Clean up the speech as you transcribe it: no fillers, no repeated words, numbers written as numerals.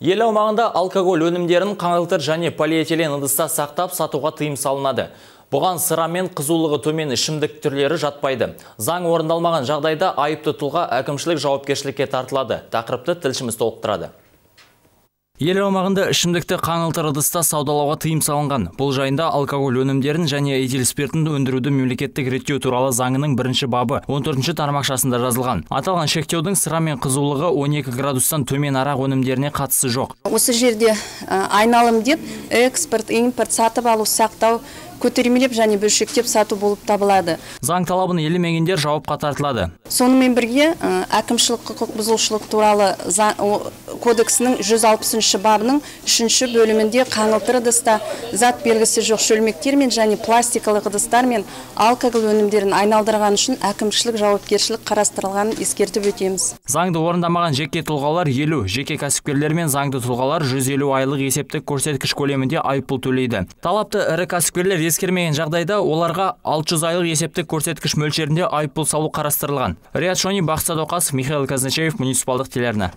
Ел аумағында алкоголь өнімдерін қаңылтыр және полиэтилен ыдыста сақтап сатуға тыйым салынады. Бұған сыра мен қызулығы төмен ішімдік түрлері жатпайды. Заң орындалмаған жағдайда айыпты тұлға әкімшілік жауапкершілікке тартылады. Тақырыпты тілшіміз толықтырады. Ел аумағында ішімдікті қаңылтыр ыдыста саудалауға тыйым салынған. Бұл жайында алкоголь өнімдерін және этил спиртін өндіруді мемлекеттік реттеу туралы заңының 1 бабы 14 тармақшасында жазылған. Аталған шектеудің сыра мен қызулығы 12 градустан төмен арақ өнімдеріне қатысы жоқ. Осы жерде айналым деп экспорт, импорт, сатып алу, сақтау, көтермелеп және бөлшектеп сату болып табылады. Заң талабын елемегендер жауапқа тартылады. Сонымен бірге әкімшілік құқық бұзушылық туралы кодексінің 160 бабының 3 бөлімінде қаңылтыр ыдыста зат белгісі жоқ шөлмектер мен және пластикалық ыдыстар мен алкоголь өнімдерін айналдырған үшін әкімшілік жауапкершілік қарастырылғанын ескертіп өтеміз. Заңды орындамаған жеке тұлғалар 50, жеке кәсіпкерлер мен заңды тұлғалар 150 айлық есептік көрсеткіш көлемінде айыппұл төлейді. Талапты ірі кәсіпкерлер ескермеген жағдайда оларға 600 айлық есептік көрсеткіш мөлшерінде айыппұл салу қарастырылған. Риат Шони, Бақыт Садуақасов, Михаил Казначеев, муниципалдық телеарна.